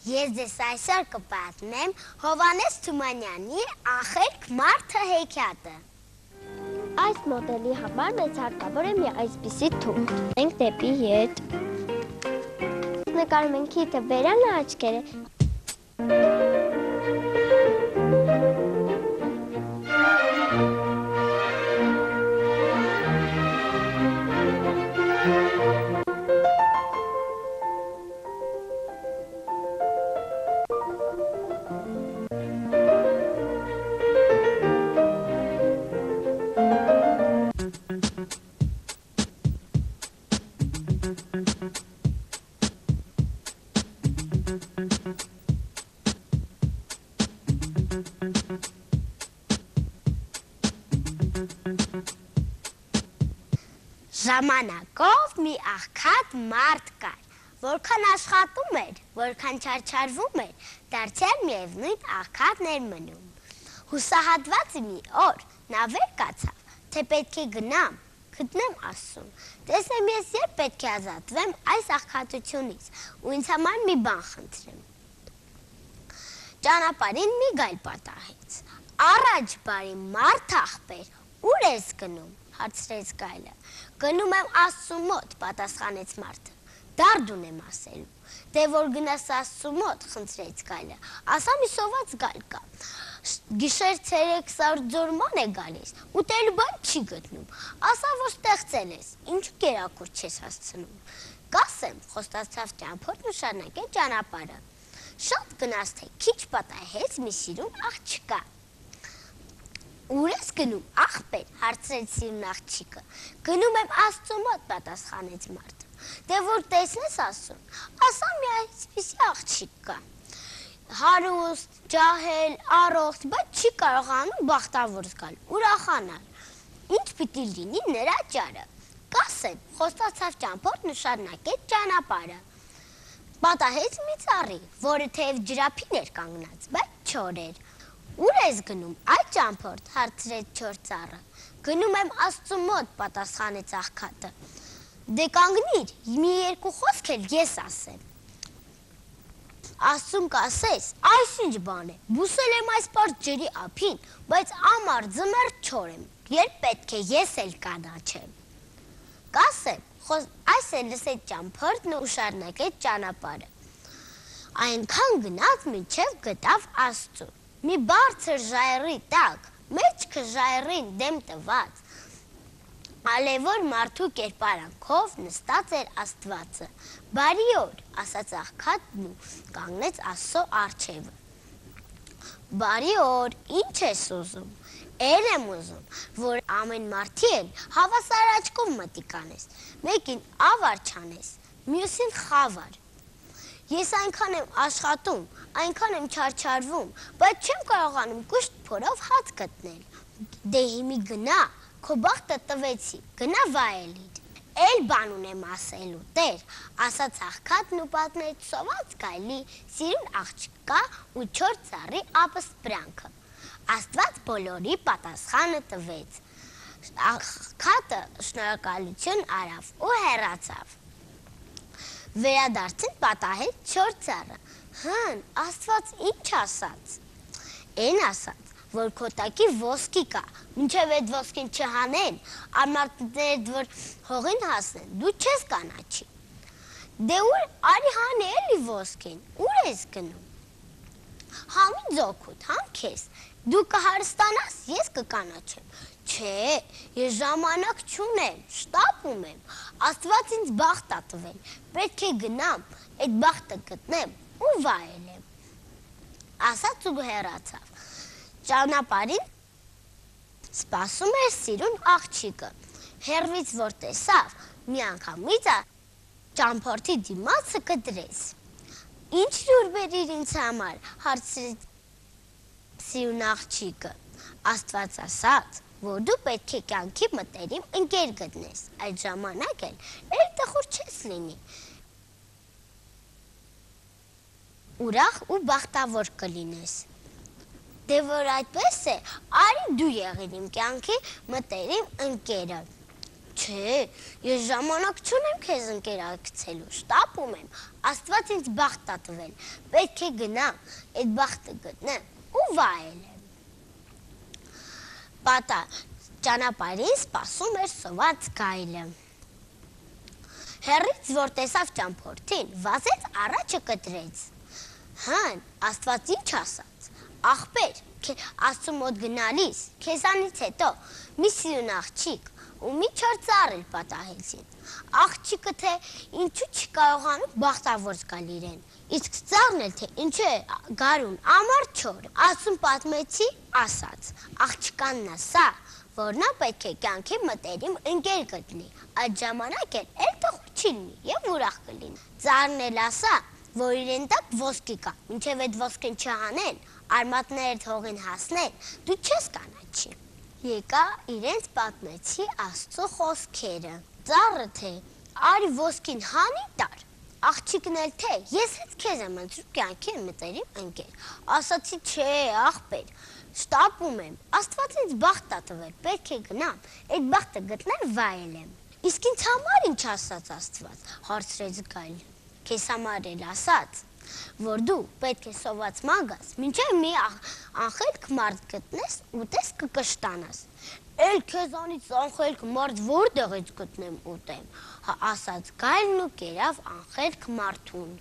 Ես ձեզ այսօր կպատմեմ Հովհաննես Թումանյանի «Ախելք մարդը» հեքիաթը։ Այս մոդելի համար մեզ հարկավոր է մի այսպիսի թուղթ։ Ենք դեպի ետ։ Նկարում ենք քիթը բերանը աչքերը։ Ժամանակով մի աղքատ մարդ կար, որքան աշխատում էր, որքան չարչարվում էր, դարձյալ միևնույն աղքատն էր մնում։ Հուսահատված մի օր նա վեր կացավ, թե պետք է գտնեմ Աստծուն, տեսնեմ ես երբ պետք է ազատվեմ այս աղքատությունից ու ինձ համար մի բան խնդրեմ։ Ճանապարհին մի գայլ պատահեց։ Առաջ բարի մարդ աղբեր, ուր ես գնում, հարցրեց գայլը։ Գնում եմ Աստծու մոտ, պատասխանեց մարդը։ Դարդ ունեմ ասելու։ Դե որ գնաս Աստծու մոտ, խնդրեց գայլը, ասա մի սոված գայլ կա։ Գիշեր ցերեկ ձորման է գալիս, ուտելու բան չի գտնում։ Ասա որ ստեղծել ես, ինչու կերակուր չես հասցնում։ Կասեմ, խոստացավ ճամփորդն ու շարունակեց ճանապարհը։ Շատ գնաց թե քիչ պատահեց մի սիրուն աղջկա։ Ուր ես գնում, աղբեր, հարցրեց սիրուն աղջիկը։ Գնում եմ Աստծու մոտ, պատասխանեց մարդը։ Դե որ տեսնես Աստծուն, ասա մի այսպիսի աղջիկ կա։ Հարուստ, ջահել, առողջ, բայց չի կարողանում բախտավոր զգալ, ուրախանալ։ Ինչ պիտի լինի նրա ճարը։ Կասեմ, խոստացավ ճամփորդն ու շարունակեց ճանապարհը։ Պատահեց մի ծառի, որը թեև ջրափին էր կանգնած, բայց չոր էր։ Ուր ես գնում, այդ ճամփորդ, հարցրեց չոր ծառը։ Գնում եմ Աստծու մոտ, պատասխանեց աղքատը։ Դե կանգնիր, մի երկու խոսք էլ ես ասեմ։ Աստծուն կասես, այսինչ բան է, բուսել եմ այս պարզ ջրի ափին, բայց ամառ ձմեռ չոր եմ, երբ պետք է ես էլ կանաչեմ։ Կասեմ, այս էլ լսեց ճամփորդն ու շարունակեց ճանապարհը։ Այնքան գնաց, մինչև գտավ Աստծուն։ Մի բարձր ժայռի տակ, մեջքը ժայռին դեմ տված, ալևոր մարդու կերպարանքով նստած էր Աստվածը։ Բարի օր, ասաց աղքատն ու կանգնեց Աստծո առջևը։ Բարի օր, ինչ ես ուզում։ Էլ եմ ուզում, որ ամեն մարդի էլ հավասար աչքով մտիկ անես, մեկին ավար չանես, մյուսին խավար։ Ես այնքան եմ աշխատում, այնքան եմ չարչարվում, բայց չեմ կարողանում կուշտ փորով հաց գտնել։ Դե հիմի գնա, քո բախտը տվեցի, գնա վայելիր։ Էլ բան ունեմ ասելու, Տեր, ասաց աղքատն ու պատմեց սոված գայլի, սիրուն աղջկա ու չոր ծառի ապսպրանքը։ Աստված բոլորի պատասխանը տվեց։ Աղքատը շնորհակալություն արավ ու հեռացավ։ Վերադարձին պատահեց չոր ծառը։ Հն, Աստված ինչ ասաց։ Էն ասաց, որ քո տակի ոսկի կա, մինչև այդ ոսկին չհանեն, արմատներդ որ հողին հասնեն, դու չես կանաչի։ Դե ուր արի հանի էլի ոսկին, ուր ես գնում։ Համի ձոքուտ, համ քեզ, դու կհարստանաս, ես կկանաչեմ։ Չէ, ես ժամանակ չունեմ, շտապում եմ, Աստված ինձ բախտ ա տվել, պետք է գնամ, այդ բախտը գտնեմ ու վայելեմ։ Ասաց ու հեռացավ։ Ճանապարհին սպասում էր սիրուն աղջիկը։ Հեռվից որ տեսավ, միանգամից ճամփորդի դիմացը կտրեց։ Ինչ լուր բերիր ինձ համար, հարցրեց սիրուն աղջիկը։ Աստված ասաց, որ դու պետք է կյանքի մտերիմ ընկեր գտնես, այդ ժամանակ էլ տխուր չես լինի։ Ուրախ ու բախտավոր կլինես։ Դե որ այդպես է, արի դու եղիր իմ կյանքի մտերիմ ընկերը։ Չէ, ես ժամանակ չունեմ քեզ ընկերակցելու, շտապում եմ, Աստված ինձ բախտ ա տվել, պետք է գնամ, այդ բախտը գտնեմ ու վայելեմ։ Պատա ճանապարհին սպասում էր սոված գայլը։ Հեռից որ տեսավ ճամփորդին, վազեց առաջը կտրեց։ Հան, Աստված ինչ ասաց, աղբեր, Աստծու մոտ գնալիս, քեզանից հետո մի սիրուն աղջիկ ու մի չոր ծառ էլ պատահեցին։ Աղջիկը թե ինչու չի կարողանում բախտավոր զգալ իրեն, իսկ ծառն էլ թե ինչու է գարուն ամառ չոր։ Աստծուն պատմեցի, ասաց, աղջկանն ասա, որ նա պետք է կյանքի մտերիմ ընկեր գտնի, այդ ժամանակ էլ տխուր չի լինի եւ ուրախ կլինի։ Ծառն էլ ասա, որ իրեն տակ ոսկի կա, մինչև այդ ոսկին չհանեն, արմատներդ հողին հասնեն, դու չես կանաչի։ Եկա իրենց պատմեցի Աստծո խոսքերը։ Ծառը թե արի ոսկին հանի տար, աղջիկն էլ թե ես հետ քեզ եմ ընտրում կյանքի մտերիմ ընկեր։ Ասացի չէ, աղբեր, շտապում եմ, Աստված ինձ բախտ ա տվել, պետք է գնամ, այդ բախտը գտնեմ վայելեմ։ Իսկ ինձ համար ինչ ասաց Աստված, հարցրեց գայլը։ Քեզ համար էլ ասաց, որ դու պետք է սոված մագաս, մինչև մի անխելք մարդ գտնես ու տես կկշտանաս։ Էլ քեզանից անխելք մարդ որտեղից գտնեմ ուտեմ, ասաց գայլն ու կերավ անխելք մարդուն։